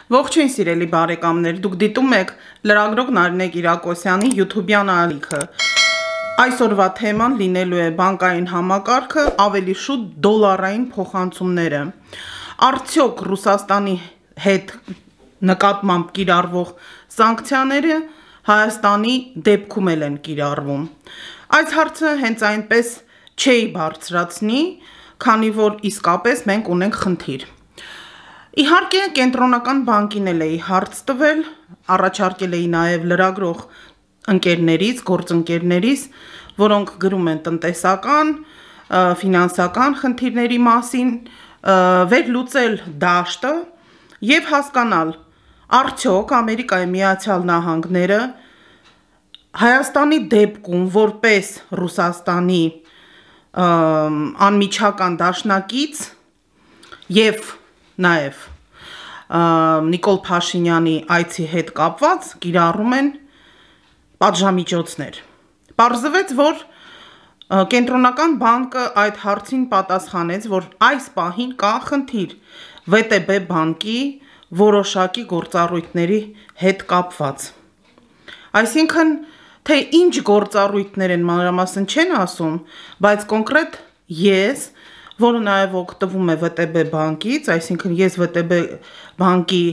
Ողջույն սիրելի բարեկամներ, դուք դիտում եք լրագրող Նարինե Կիրակոսյանի YouTube-յան ալիքը։ Այսօրվա թեման լինելու է բանկային համակարգը, ավելի շուտ դոլարային փոխանցումները։ Արդյոք Ռուսաստանի հետ նկատմամբ կիրառվող սանկցիաները Հայաստանի դեպքում են կիրառվում։ Այս հարցը հենց այնպես չի բարձրացնի, քանի որ իսկապես մենք ունենք խնդիր։ Իհարկե, կենտրոնական բանկին էի հարց տվել, առաջարկել էի նաև լրագրող ընկերներից, գործընկերներից, որոնք գրում են տնտեսական, ֆինանսական խնդիրների մասին, վերլուծել դաշտը եւ հասկանալ, արդյոք Ամերիկայի Միացյալ Նահանգները Հայաստանի դեպքում որպես Ռուսաստանի անմիջական դաշնակից եւ նաև Նիկոլ Փաշինյանի այցի հետ կապված կիրառում են պատժամիջոցներ։ Պարզվեց, որ կենտրոնական բանկը այդ հարցին պատասխանեց, որ այս պահին կա խնդիր ՎՏԲ բանկի որոշակի գործառույթների հետ կապված։ Այսինքն, թե ինչ գործառույթներ են մանրամասն չեն ասում, բայց կոնկրետ ես, որը նաև օգտվում է ՎՏԲ բանկից, այսինքն ես ՎՏԲ բանկի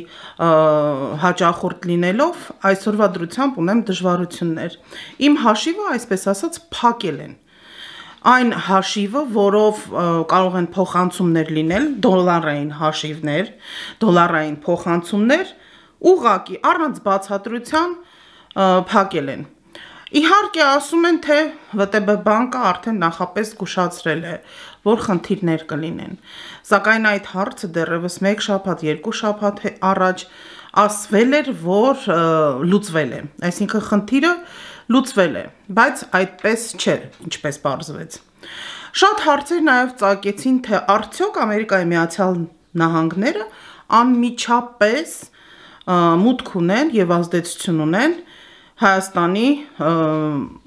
հաճախորդ լինելով, այսօրվա դրությամբ ունեմ դժվարություններ։ Իմ հաշիվը, այսպես ասած, փակել են։ Այն հաշիվը, որով կարող են փոխանցումներ լինել, դոլարային հաշիվներ, դոլարային փոխանցումներ, ուղղակի առանց բացատրության փակել են։ Իհարկե ասում են, թե ՎՏԲ բանկը արդեն նախապես զգուշացրել է, որ խնդիրներ կլինեն, սակայն այդ հարցը դեռևս 1 շաբաթ, 2 շաբաթ առաջ ասվել էր, որ լուծվել է, այսինքն խնդիրը լուծվել է, բայց այդպես չէ, ինչպես պարզվեց։ Շատ հարցեր նաև ծագեցին, թե արդյոք Ամերիկայի Միացյալ Նահանգները անմիջապես մուտք ունեն եւ ազդեցություն ունեն Հայաստանի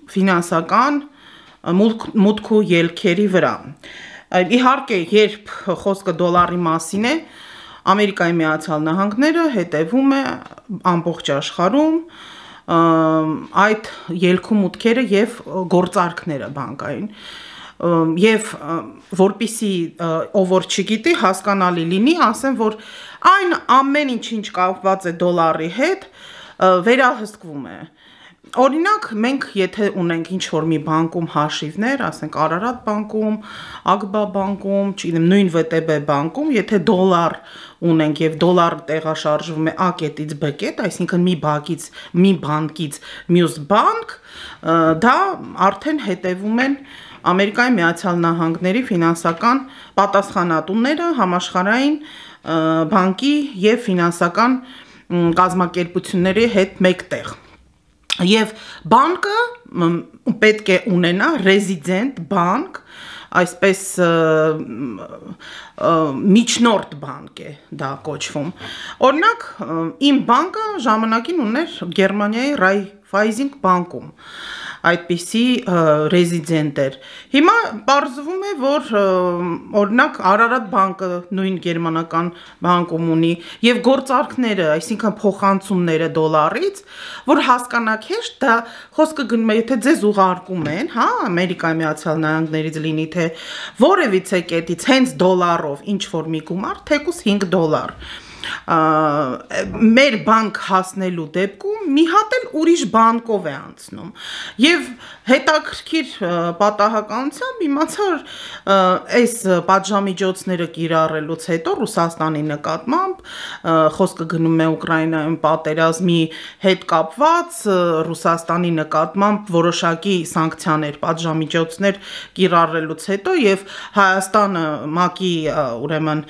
ֆինանսական մուտքու ելքերի վրա։ Իհարկե, երբ խոսքը դոլարի մասին է, Ամերիկայի Միացյալ Նահանգները հետևում է ամբողջ աշխարհում այդ ելքու մուտքերը եւ գործարքները բանկային։ Եվ որպիսի ով որ չգիտի, հասկանալի լինի, ասեմ, որ այն ամեն ինչ կապված է դոլարի հետ, վերահսկվում է։ Օրինակ, մենք եթե ունենք ինչ-որ մի բանկում հաշիվներ, ասենք Արարատ բանկում, Ագբա բանկում, չգիտեմ, նույն ՎՏԲ բանկում, եթե դոլար ունենք եւ դոլարը տեղաշարժվում է A կետից B կետ, այսինքն մի բանկից մյուս բանկ, դա արդեն հետևում են Ամերիկայի Միացյալ Նահանգների ֆինանսական պատասխանատուները համաշխարհային բանկի եւ ֆինանսական կազմակերպությունների հետ մեկտեղ։ Եվ բանկը պետք է ունենա ռեզիդենտ բանկ, այսպես միջնորդ բանկ է դա կոչվում։ Օրինակ, իմ բանկը ժամանակին ուներ Գերմանիայի Raiffeisen բանկում, այդպիսի ռեզիդենտ էր։ Հիմա պարզվում է, որ օրինակ Արարատ բանկը նույն գերմանական բանկում ունի եւ գործարքները, այսինքն փոխանցումները դոլարից, որ հասկանաք հեշտ, դա խոսքը գնում է, եթե ձեզ ուղարկում են, հա, Ամերիկայի Միացյալ Նահանգներից լինի, թե որևիցե կետից հենց դոլարով ինչ որ մի գումար, թեկուզ $5 մեր բանկ հասնելու դեպքում մի հատ էլ ուրիշ բանկով է անցնում եւ հետաքրքիր պատահականությամբ իմացա այս պատժամիջոցները կիրառելուց հետո Ռուսաստանի նկատմամբ խոսքը գնում է Ուկրաինայում պատերազմի հետ կապված Ռուսաստանի նկատմամբ որոշակի սանկցիաներ, պատժամիջոցներ կիրառելուց հետո եւ Հայաստանը ՄԱԿ-ի ուրեմն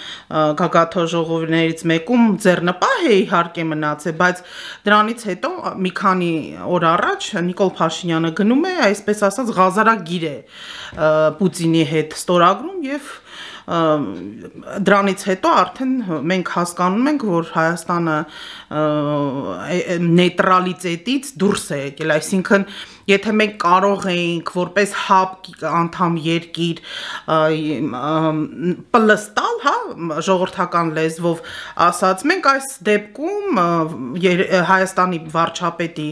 գագաթնաժողովներից մեկում ձեռնպահ է իհարկե մնացել, բայց դրանից հետո մի քանի օր առաջ Նիկոլ Փաշինյանը գնում է, այսպես ասած, ղազարագիր է Պուտինի հետ ստորագրում եւ դրանից հետո արդեն մենք հասկանում ենք, որ Հայաստանը նեյտրալիտետից դուրս է եկել, այսինքն եթե մենք կարող էինք որպես հապ անդամ երկիր պլստալ, հա, ժողովրդական լեզվով ասած, մենք այս դեպքում Հայաստանի վարչապետի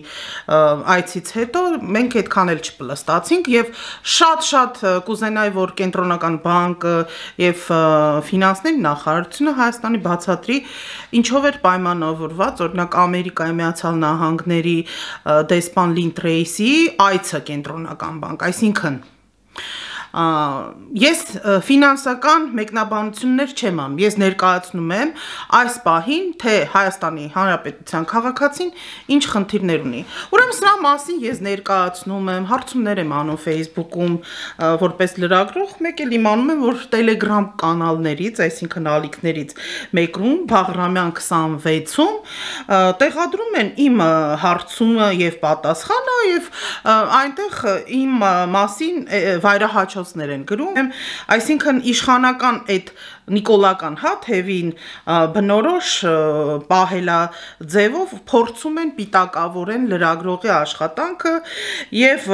այցից հետո մենք այդքան էլ չպլստացինք եւ շատ կուզենայի, որ կենտրոնական բանկը եւ ֆինանսների նախարարությունը Հայաստանի բացատրի ինչով էր պայմանավորված, օրինակ Ամերիկայի Միացյալ Նահանգների դեսպան Լին Տրեյսիի այցը կենտրոնական բանկ, այսինքն ես ֆինանսական մեկնաբանություններ չեմ անում, ես ներկայացնում եմ այս պահին, թե Հայաստանի Հանրապետության քաղաքացին ինչ խնդիրներ ունի։ Ուրեմն սրա մասին ես ներկայացնում եմ, հարցումներ եմ անում Facebook-ում որպես լրագրող, մեկ էլ իմանում եմ, որ Telegram կանալներից, այսինքն ալիքներից մեկում Բաղրամյան 26-ում տեղադրում են իմ հարցումը եւ պատասխանը եւ այնտեղ իմ մասին վայրահաչոցներ են գրում, այսինքն իշխանական այդ նիկոլական թևին բնորոշ պահելա ձևով փորձում են պիտակավորեն լրագրողի աշխատանքը եւ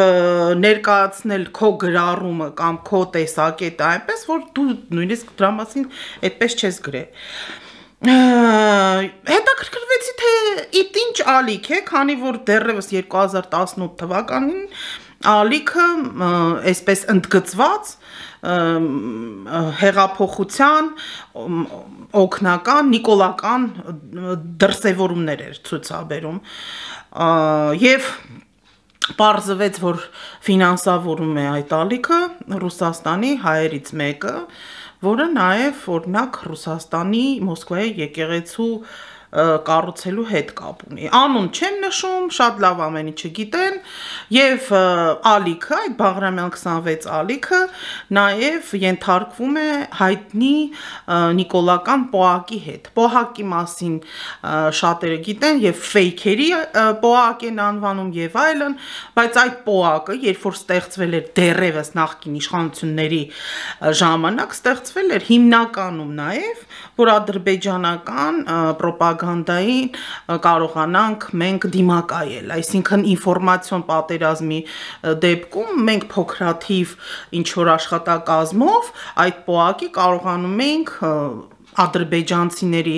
ներկայացնել քո գրառումը կամ քո տեսակետը այնպես, որ դու նույնիսկ դրա մասին այդպես չես գրել։ Հետաքրքրվեցի, թե ինչ ալիք է, քանի որ դեռևս 2018 թվականին ալիքը այսպես ընդգծված հեղափոխության օգնական նիկոլական դրսևորումներ էր ցուցաբերում եւ պարզվեց, որ ֆինանսավորում է այդ ալիքը Ռուսաստանի հայերից մեկը, որը նաև օրինակ Ռուսաստանի Մոսկվայի եկեղեցու կառուցելու հետ կապ ունի։ Անուն չեմ նշում, շատ լավ ամեն ինչը գիտեն, եւ ալիքը, այդ Բաղրամյան 26 ալիքը նաև ենթարկվում է հայտնի նիկոլական պոակի հետ։ Պոակի մասին շատերը գիտեն եւ ֆեյքերի պոակ են անվանում եւ այլն, բայց այդ պոակը, երբ որ ստեղծվել էր դեռևս նախկին իշխանությունների ժամանակ, ստեղծվել էր հիմնականում նաև, որ ադրբեջանական պրոպագանդային կարողանանք մենք դիմակայել, այսինքն ինֆորմացիոն պատերազմի դեպքում մենք փոքրաթիվ ինչ-որ աշխատակազմով այդ պոակի կարողանում ենք ադրբեջանցիների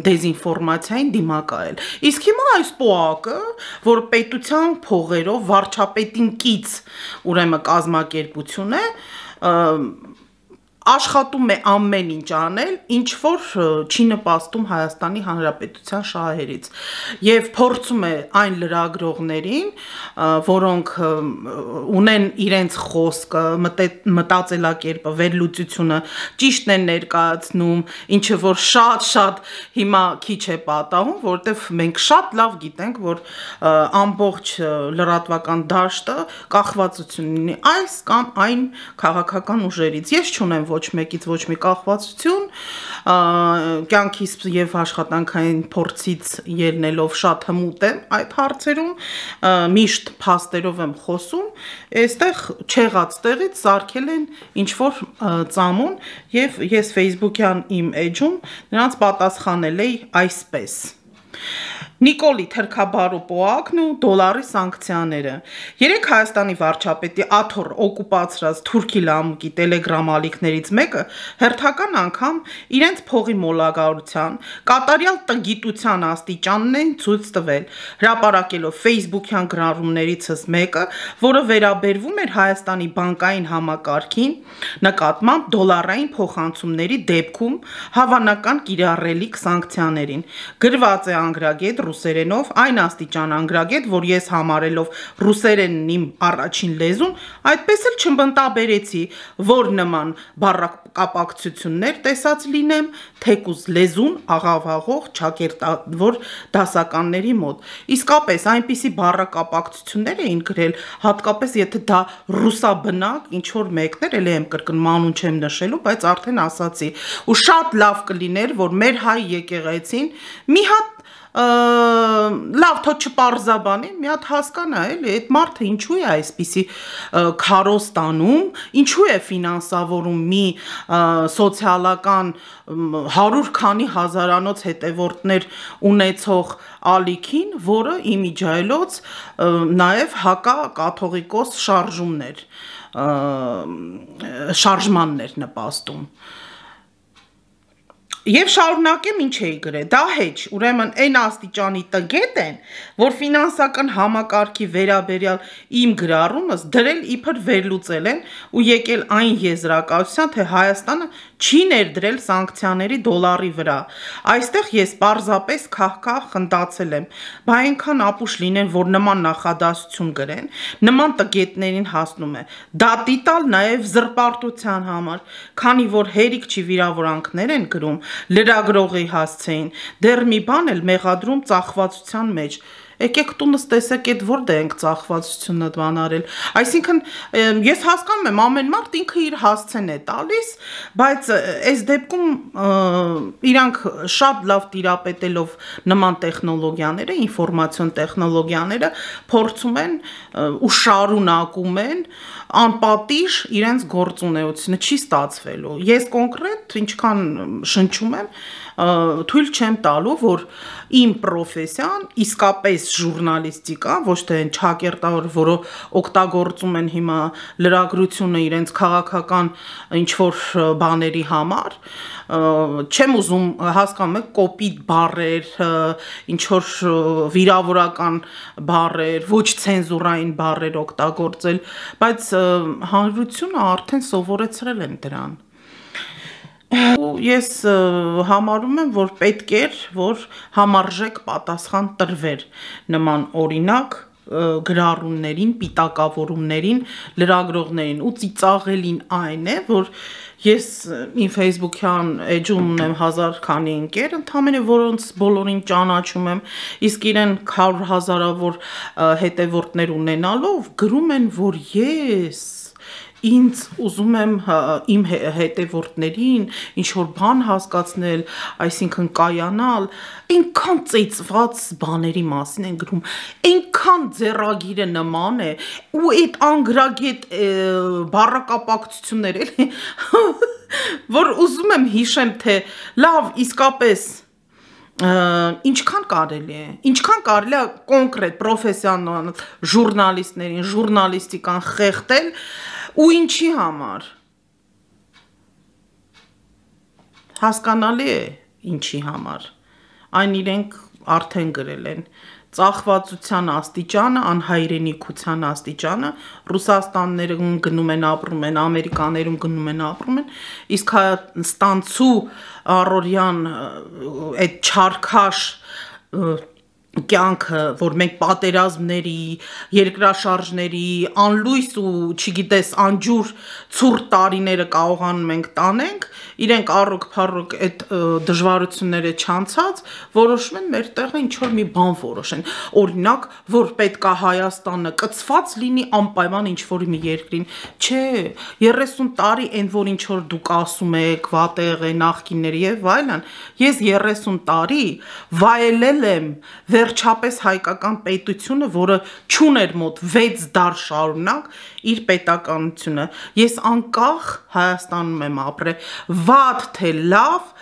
դեզինֆորմացիային դիմակայել։ Իսկ հիմա այս պոակը, որ պետության փողերով վարչապետին կից ուրեմն կազմակերպություն է, աշխատում է ամեն ինչ անել, ինչ որ չի նպաստում Հայաստանի Հանրապետության շահերից եւ փորձում է այն լրագրողներին, որոնք ունեն իրենց խոսքը, մտածելակերպը, վերլուծությունը ճիշտ են ներկայացնում, ինչը որ շատ հիմա քիչ է պատահում, որովհետեւ մենք շատ լավ գիտենք, որ ամբողջ լրատվական դաշտը կախվածություն ունի այս կամ այն քաղաքական ուժերից։ Ես չունեմ ոչ մեկից ոչ մի կախվածություն, կյանքից եւ աշխատանքային փորձից ելնելով շատ հմուտ եմ այդ հարցերում, միշտ փաստերով եմ խոսում, այստեղ չեղած տեղից սարքել են ինչ որ ծամոն եւ ես Facebook-յան իմ էջում նրանց պատասխանել էի այսպես. Նիկոլի թրքաբարու պոակն ու դոլարի սանկցիաները։ Երեք Հայաստանի վարչապետի աթոռ օկուպացրած թուրքի լամուկի տելեգրամ ալիքներից մեկը հերթական անգամ իրենց փողի մոլագարության, կատարյալ տգիտության աստիճանն են ցույց տվել, հրապարակելով Facebook-յան գրառումներիցս մեկը, որը վերաբերվում էր Հայաստանի բանկային համակարգին, նկատմամբ դոլարային փոխանցումների դեպքում հավանական կիրառելիք սանկցիաներին։ Գրված է անգրագետ ռուսերենով, այն աստիճան անգրագետ, որ ես համարելով ռուսերենն իմ առաջին լեզուն, այդպես էլ չմտաբերեցի, որ նման բառակապակցություններ տեսած լինեմ, թեկուզ լեզուն աղավաղող ճակերտավոր դասականների մոտ։ Իսկապես այնպիսի բառակապակցություններ էին գրել, հատկապես եթե դա ռուսաբնակ ինչ-որ մեկներ, էլ եմ կրկնում, անուն չեմ նշելու, բայց արդեն ասացի, ու շատ լավ կլիներ, որ մեր հայ եկեղեցին մի հատ լավ թող չպարզաբանի, մի հատ հասկանա էլի, այդ մարդը ինչու է այսպիսի քարոստանում, ինչու է ֆինանսավորում մի սոցիալական 100 քանի հազարանոց հետևորդներ ունեցող ալիքին, որը իմիջայլոց նաև հակակաթողիկոս շարժմաններ նպաստում։ Եվ շարունակեմ ինչ էի գրել, դա հեչ, ուրեմն այն աստիճանի տգետ են, որ ֆինանսական համակարգի վերաբերյալ իմ գրառումս դրել իբր վերլուծել են ու եկել այն եզրակացության, թե Հայաստանը չի ներդրել սանկցիաների դոլարի վրա։ Այստեղ ես պարզապես քահ-քահ խնդացել եմ, բա այնքան ապուշ լինեն, որ նման նախադասություն գրեն, նման տգետներին հասնում է։ Դատի տալ նաև զրպարտության համար, քանի որ հերիք չի վիրավորանքներ են գրում, լրագրողի հասցեին, դեռ մի բան էլ մեղադրում ծախվածության մեջ։ Եկեք տունս տեսեք այդ որտե ենք ծախվածությունը բանարել։ Այսինքն ես հասկանում եմ ամեն մարդ ինքը իր հասցեն է տալիս, բայց այս դեպքում իրանք շատ լավ տիրապետելով նման տեխնոլոգիաները, ինֆորմացիոն տեխնոլոգիաները փորձում են ու շարունակում են անպատիժ իրենց գործունեությունը չի ստացվելու։ Ես կոնկրետ ինչքան շնչում եմ, թույլ չեմ տալու, որ իմ պրոֆեսիան իսկապես ժուրնալիստիկա, ոչ թե այն ճակերտավոր, որը օգտագործում են հիմա լրագրությունը իրենց քաղաքական ինչ-որ բաների համար, չեմ ուզում հասկանում եք կոպիտ բառեր, ինչ-որ վիրավորական բառեր, ոչ ցենզուրային բառեր օգտագործել, բայց հանրությունը արդեն սովորեցրել են դրան։ Ես համարում եմ, որ պետք էր, որ համարժեք պատասխան տրվեր նման օրինակ գրառումներին, պիտակավորումներին, լրագրողներին ու ծիծաղելին այն է, որ ես իմ Facebook-յան էջում ունեմ 1000 քանի ընկեր, ընդամենը որոնց բոլորին ճանաչում եմ, իսկ իրեն 100 հազարավոր հետևորդներ ունենալով գրում են, որ ես ինձ ուզում եմ իմ հետևորդներին ինչ-որ բան հասկացնել, այսինքն կայանալ, այնքան ծեծված բաների մասին են գրում, այնքան ձեռագիրը նման է, ու այդ անգրագետ բառակապակցություններ էլի, որ ուզում եմ հիշեմ, թե լավ, իսկապես ինչքան կարելի է կոնկրետ պրոֆեսիոնալ ժուրնալիստներին, ժուրնալիստիկան խեղդել ու ինչի համար, հասկանալի է ինչի համար, այն իրենք արդեն գրել են, ծախվածության աստիճանը, անհայրենիքության աստիճանը, Ռուսաստաններում գնում են ապրում են, Ամերիկաներում գնում են ապրում են, իսկ Հայաստանցու առօրյան այդ չարքաշ կյանքը, որ մենք պատերազմների, երկրաշարժների, անլույս ու չգիտես անջուր ցուրտ տարիները կարողանում ենք տանենք, իրենք առոք-փառոք այդ դժվարությունները չանցած, որոշում են մեր տեղը ինչ-որ մի բան որոշեն, օրինակ, որ պետքա Հայաստանը կցված լինի անպայման ինչ-որ մի երկրին, չէ, 30 տարի այն, որ ինչ-որ դուք ասում եք, վատեղ է, նախկիններ եւ այլն, ես 30 տարի վայելել եմ վերջապես հայկական պետությունը, որը չուներ մոտ 6 դար շարունակ իր պետականությունը, ես անկախ Հայաստանում եմ ապրել, վատ թե լավ,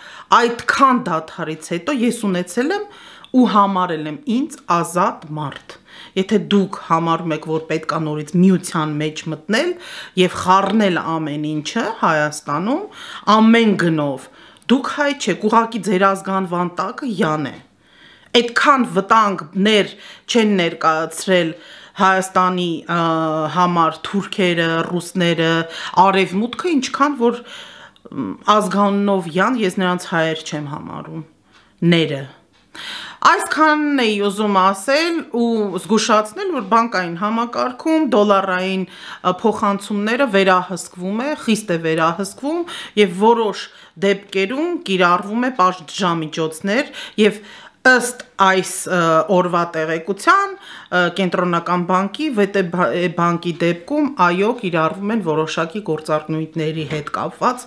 այդքան դադարից հետո ես ունեցել եմ ու համարել եմ ինձ ազատ մարդ, եթե դուք համարում եք, որ պետք է նորից միության մեջ մտնել և խառնել ամեն ինչը Հայաստանում, ամեն գնով, դուք հայ չեք, ուղղակի ձեր ազգանվան տակը յան է, այդքան վտանգներ չեն ներկայացրել Հայաստանի համար թուրքերը, ռուսները, արևմուտքը, ինչքան որ ազգանունով յան, ես նրանց հայեր չեմ համարում, ները։ Այսքանն էի ուզում ասել ու զգուշացնել, որ բանկային համակարգում դոլարային փոխանցումները վերահսկվում է, խիստ է վերահսկվում և որոշ դեպքերում կիրառվում է պատժամիջոցներ և Ըստ այս օրվա տեղեկության կենտրոնական բանկի VTB բանկի դեպքում այո կիրառվում են որոշակի գործառնույթների հետ կապված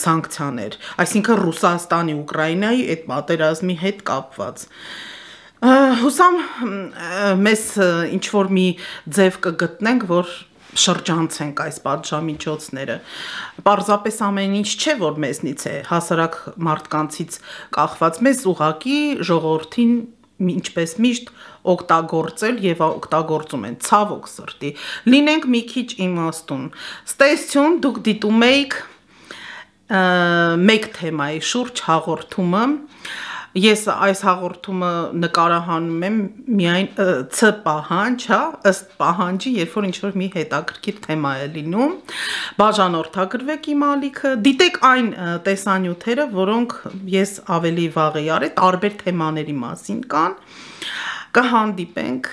սանկցիաներ, այսինքն Ռուսաստանի, Ուկրաինայի այդ պատերազմի հետ կապված։ Հուսամ մեզ ինչ որ մի ձև կգտնենք, որ շրջանցենք այս պատժամիջոցները։ Պարզապես ամեն ինչ չէ, որ մեզնից է, հասարակ մարդկանցից կախված, մեզ ուղղակի ժողովրդին ինչպես միշտ օգտագործել եւ օգտագործում են ցավոք սրտի։ Լինենք մի քիչ իմաստուն։ Ստեսություն, դուք դիտում եք մեկ թեմայի շուրջ հաղորդումը։ Ես այս հաղորդումը նկարահանում եմ միայն ց պահանջ, հա, ըստ պահանջի, երբ որ ինչ-որ մի հետաքրքիր թեմա է լինում, բաժանորդագրվեք իմ ալիքը, դիտեք այն տեսանյութերը, որոնք ես ավելի վաղ էի արել, տարբեր թեմաների մասին կան, կհանդիպենք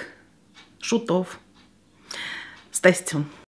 շուտով, ստեսություն։